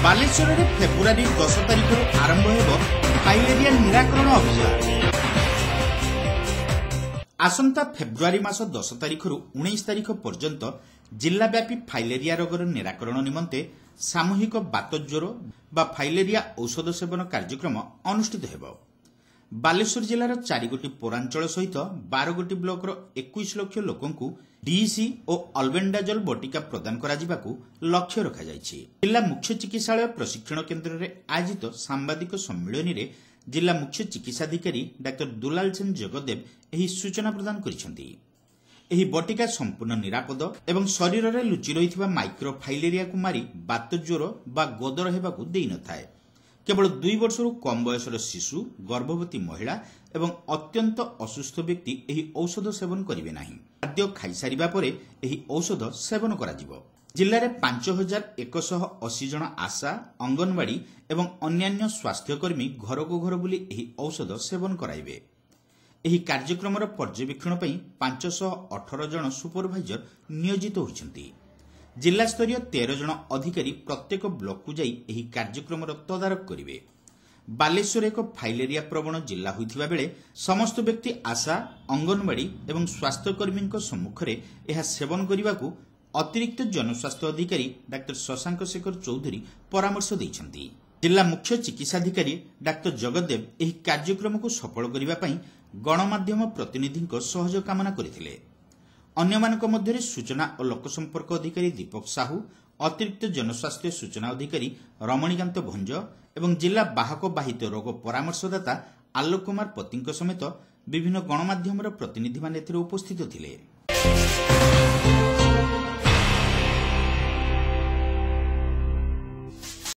ବାଲେଶ୍ୱରରେ ଫେବୃଆରୀ 10 ତାରିଖରୁ ଆରମ୍ଭ ହେବ ଫାଇଲେରିଆ ନିରାକରଣ ଅଭିଯାନ। ଆସନ୍ତା ଫେବୃଆରୀ ମାସ 10 ତାରିଖରୁ 19 ତାରିଖ ପର୍ଯ୍ୟନ୍ତ ଜିଲ୍ଲାବ୍ୟାପୀ ଫାଇଲେରିଆ ରୋଗର ନିରାକରଣ ନିମନ୍ତେ ସାମୂହିକ ବାତଜ୍ୱର ବା ଫାଇଲେରିଆ ଔଷଧ ସେବନ କାର୍ଯ୍ୟକ୍ରମ ଅନୁଷ୍ଠିତ ହେବ। ବାଲେଶ୍ୱର ଜିଲ୍ଲାର 4ଗୋଟି ପୌରାଞ୍ଚଳ ସହିତ 12ଗୋଟି ବ୍ଲକର 21 ଲକ୍ଷ ଲୋକଙ୍କୁ ଡିଇସି ଓ ଅଲବେଣ୍ଡାଜଲ ବଟିକା ପ୍ରଦାନ କରାଯିବାକୁ ଲକ୍ଷ୍ୟ ରଖାଯାଇଛି। ଜିଲ୍ଲା ମୁଖ୍ୟ ଚିକିତ୍ସାଳୟ ପ୍ରଶିକ୍ଷଣ କେନ୍ଦ୍ରରେ ଆୟୋଜିତ ସାମ୍ବାଦିକ ସମ୍ମିଳନୀରେ ଜିଲ୍ଲା ମୁଖ୍ୟ ଚିକିତ୍ସାଧିକାରୀ ଡାକ୍ତର ଦୁଲାଲ ସେନ ଜଗଦେବ ଏହି ସୂଚନା ପ୍ରଦାନ କରିଛନ୍ତି। ଏହି ବଟିକା ସମ୍ପୂର୍ଣ୍ଣ ନିରାପଦ ଏବଂ ଶରୀରରେ ଲୁଚି ରହିଥିବା ମାଇକ୍ରୋ ଫାଇଲେରିଆକୁ ମାରି ବାତଜ୍ୱର ବା ଗଦର ହେବାକୁ ଦେଇନଥାଏ। କେବଳ 2 ବର୍ଷରୁ କମ୍ ବୟସର ଶିଶୁ, ଗର୍ଭବତୀ ମହିଳା ଏବଂ ଅତ୍ୟନ୍ତ ଅସୁସ୍ଥ ବ୍ୟକ୍ତି ଏହି ଔଷଧ ସେବନ କରିବେ ନାହିଁ। ଖାଦ୍ୟ ଖାଇସାରିବା ପରେ ଏହି ଔଷଧ ସେବନ କରାଯିବ। ଜିଲ୍ଲାରେ 5180 ଜଣ ଆଶା, ଅଙ୍ଗନବାଡି ଏବଂ ଅନ୍ୟାନ୍ୟ ସ୍ୱାସ୍ଥ୍ୟକର୍ମୀ ଘରକୁ ଘର ବୁଲି ଏହି ଔଷଧ ସେବନ କରାଇବେ। ଏହି କାର୍ଯ୍ୟକ୍ରମର ପର୍ଯ୍ୟବେକ୍ଷଣ ପାଇଁ 518 ଜଣ ସୁପରଭାଇଜର ନିୟୋଜିତ ହୋଇଛନ୍ତି। ଜିଲ୍ଲାସ୍ତରୀୟ 13 ଜଣ ଅଧିକାରୀ ପ୍ରତ୍ୟେକ ବ୍ଲକକୁ ଯାଇ ଏହି କାର୍ଯ୍ୟକ୍ରମର ତଦାରଖ କରିବେ। ବାଲେଶ୍ୱର ଏକ ଫାଇଲେରିଆ ପ୍ରବଣ ଜିଲ୍ଲା ହୋଇଥିବା ବେଳେ ସମସ୍ତ ବ୍ୟକ୍ତି ଆଶା, ଅଙ୍ଗନବାଡି ଏବଂ ସ୍ୱାସ୍ଥ୍ୟକର୍ମୀଙ୍କ ସମ୍ମୁଖରେ ଏହା ସେବନ କରିବାକୁ ଅତିରିକ୍ତ ଜନସ୍ୱାସ୍ଥ୍ୟ ଅଧିକାରୀ ଡାକ୍ତର ଶଶାଙ୍କ ଶେଖର ଚୌଧୁରୀ ପରାମର୍ଶ ଦେଇଛନ୍ତି। ଜିଲ୍ଲା ମୁଖ୍ୟ ଚିକିତ୍ସାଧିକାରୀ ଡାକ୍ତର ଜଗଦେବ ଏହି କାର୍ଯ୍ୟକ୍ରମକୁ ସଫଳ କରିବା ପାଇଁ ଗଣମାଧ୍ୟମ ପ୍ରତିନିଧିଙ୍କ ସହଯୋଗ କାମନା କରିଥିଲେ। ଅନ୍ୟମାନଙ୍କ ମଧ୍ୟରେ ସୂଚନା ଓ ଲୋକସମ୍ପର୍କ ଅଧିକାରୀ ଦୀପକ ସାହୁ, ଅତିରିକ୍ତ ଜନସ୍ୱାସ୍ଥ୍ୟ ସୂଚନା ଅଧିକାରୀ ରମଣୀକାନ୍ତ ଭଞ୍ଜ ଏବଂ ଜିଲ୍ଲା ବାହକ ବାହିତ ରୋଗ ପରାମର୍ଶଦାତା ଆଲୋକ କୁମାର ପତିଙ୍କ ସମେତ ବିଭିନ୍ନ ଗଣମାଧ୍ୟମର ପ୍ରତିନିଧିମାନେ ଏଥିରେ ଉପସ୍ଥିତ ଥିଲେ।